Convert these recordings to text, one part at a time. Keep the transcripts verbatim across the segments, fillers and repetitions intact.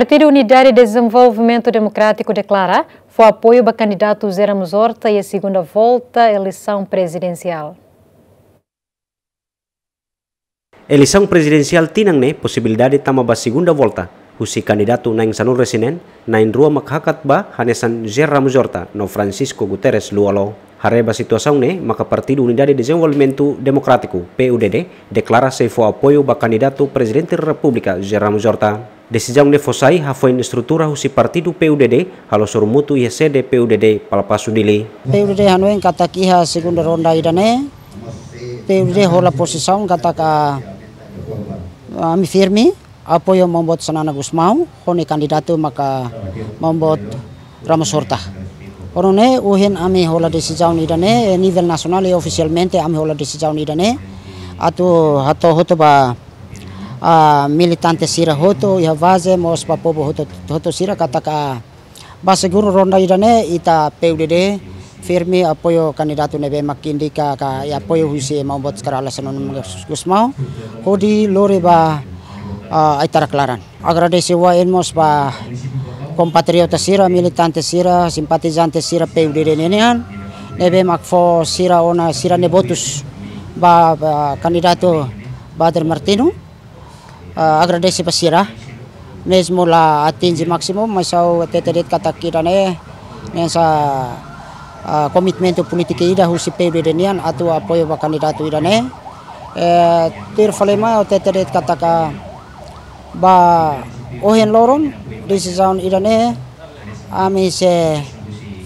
Partidu Unidade Dezenvolvimentu Demokrátiku deklara fó apoiu ba kandidatu José Ramos Horta iha segunda volta eleisaun prezidensiál. Eleisaun prezidensiál tinan ne'e posibilidade tama ba segunda volta, husi kandidatu na'in sanulu-resin-neen, na'in-rua mak hakat ba hanesan José Ramos Horta no Francisco Guterres Lú-Olo. Haree ba situasaun ne'e maka Partidu Unidade Dezenvolvimentu Demokrátiku, P U D D, deklara sei fó apoiu ba kandidatu Prezidente Repúblika José Ramos Horta. Desizaun ne'e fó sai hafoin estrutura husi partidu P U D D halo sorumutu iha sede P U D D Palapasu, Dili. P U D D hanoin katak iha segunda ronda ida-ne'e, P U D D hola pozisaun katak, ah, ami firme apoiu Maun Boot Xanana Gusmão, ho nia kandidatu maka Maun Boot Ramos Horta. Ho nune'e ohin ami hola desizaun ida-ne'e, eh, nivel nasionál i ofisialmente ami hola desizaun ida-ne'e. Atu hato'o hotu ba, ah, militante sira hotu, iha baze mós ba povu hotu, hotu sira katak, ah, ba segunda ronda ida-ne'e ita P U D D firme apoiu kandidatu ne'ebé mak indika ka iha apoiu husi Maun Boot Kay Rala Xanana Gusmão, hodi lori ba, ah, ai-tarak laran. Agradese wa'in mós ba kompatriota sira, militante sira, simpatizante sira P U D D ninian, ne'ebé mak fó sira ona sira-nia votus ba, ba kandidatu Bader Martino. Ah, agradese ba sira, mezmu la atinje másimu, mas ha'u hatete de'it katak ida-ne'e hanesan, ah, komitmentu polítiku ida husi P U D D nian atu apoiu ba kandidatu ida-ne'e. Eh, tuir fali mai ha'u hatete de'it katak ba ohin loron desizaun ida-ne'e, ami sei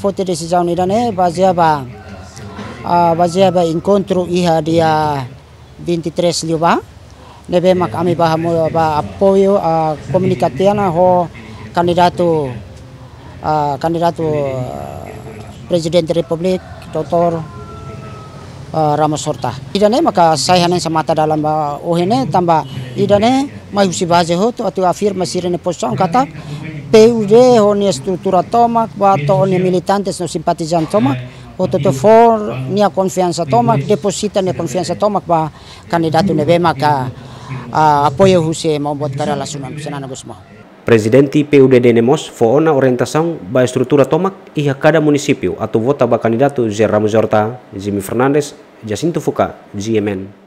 foti desizaun ida-ne'e bazeia ba, ah, bazeia ba enkontru iha dia vinte e três liubá, ne'ebé mak ami ba hamosu ba apoiu, ah, komunika tiha ona ho kandidatu, ah, kandidatu, ah, Prezidente Repúblika, doutór, ah, Ramos Horta. Ida-ne'e maka sai hanesan matadalan ba ohin ne'e, tanba ida-ne'e mai husi baze hotu atu afirma sira-nia pozisaun katak P U D ho nia estrutura tomak, ba to'o nia militantes no simpatizante tomak, hotu-hotu fó nia konfiansa tomak, depozita nia konfiansa tomak ba kandidatu ne'ebé maka, ah, apoiu husi Maun Boot Kay Rala Xanana Gusmão. Prezidente P U D D ne'e mós fó ona orientasaun ba estrutura tomak iha kada munisípiu atu vota ba kandidatu José Ramos Horta. Jimmy Fernandes, Jacinto Fuca, G M N.